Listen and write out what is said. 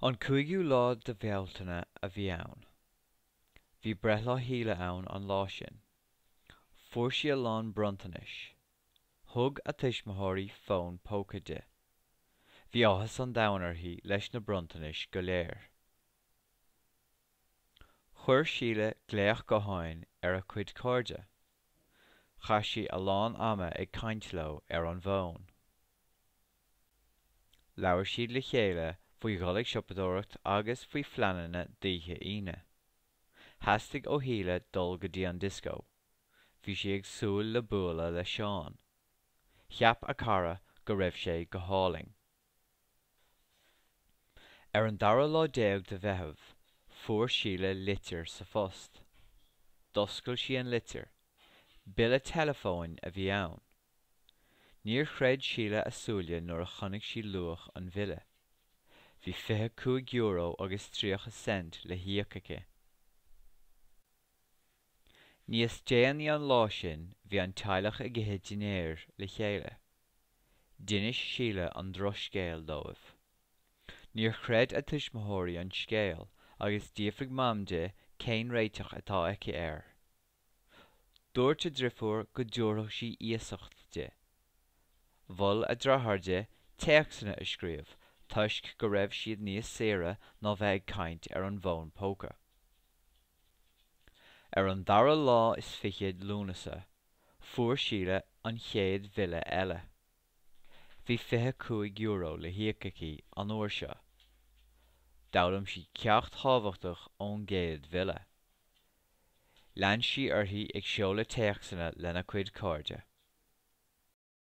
An cúigiú lá de Bhealtaine a bhí ann. Bhí breithlá Shíle ann an lá sin. Fuair sí a lán bronntanais. Thug a tuismitheoirí fón póca di. Bhí áthas an domhain uirthi leis na bronntanais go léir. Chuir Síle glaoch gutháin ar a cuid cairde. Chaith sí a lán ama ag caint leo ar an bhfón. Labhair siad le chéile faoi dhul ag siopadóireacht agus faoi phleananna d'oíche Aoine. Theastaigh ó Shíle dul go dtí an dioscó. Bhí sí ag súil le bualadh le Seán. Cheap a cara go raibh sé go hálainn. Ar an dara lá déag de Mheitheamh, fuair Síle litir sa phost. D'oscail sí an litir. Bille teileafóin a bhí ann. Níor chreid Síle a súile nuair a chonaic sí luach an bhille. Bhí €25 agus 30 cent le híoc aici. Níos déanaí an lá sin bhí an teaghlach ag ithe dinnéir le chéile. D'inis Síle an drochscéal dóibh. Níor chreid a tuismitheoirí an scéal agus d'fhiafraigh Mam di cén réiteach atá aici air. Dúirt a drifiúr go dtabharfadh sí iasacht di. Mhol a dreatháir di téacsanna a scríobh toisc go raibh siad níos saoire ná bheith ag caint ar an bhfón póca. Ar an dara lá is fiche Lúnasa, fuair Síle an chéad bhille eile. Bhí €25 le híoc aici an uair seo. D'fhoghlaim sí ceacht thábhachtach ón gcéad bhille. Lean sí uirthi ag seoladh téacsanna lena cuid cairde.